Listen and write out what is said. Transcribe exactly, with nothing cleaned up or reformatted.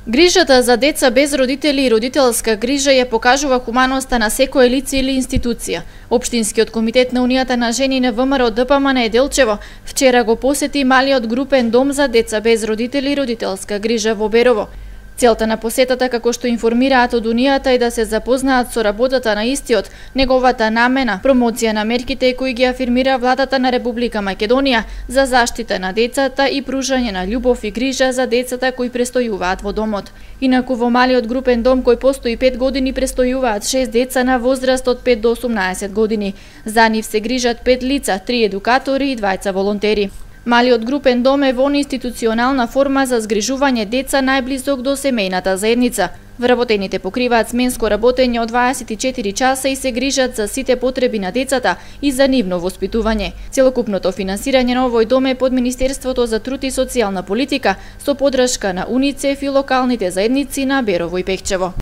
Грижата за деца без родители и родителска грижа ја покажува хуманоста на секое лице или институција. Општинскиот комитет на Унијата на жени на ВМРО Д П М Неделчево вчера го посети малиот групен дом за деца без родители и родителска грижа во Берово. Целта на посетата, како што информираат од Унијата, е да се запознаат со работата на истиот, неговата намена, промоција на мерките кои ги афирмира владата на Република Македонија за заштита на децата и пружање на љубов и грижа за децата кои престојуваат во домот. Инаку во малиот групен дом кој постои пет години престојуваат шест деца на возраст од пет до осумнаесет години. За нив се грижат пет лица, три едукатори и двајца волонтери. Малиот групен дом е во институционална форма за згрижување деца најблизок до семејната заедница. Вработените покриваат сменско работење од дваесет и четири часа и се грижат за сите потреби на децата и за нивно воспитување. Целокупното финансирање на овој дом е под Министерството за труд и социјална политика со поддршка на УНИЦЕФ и локалните заедници на Берово и Пехчево.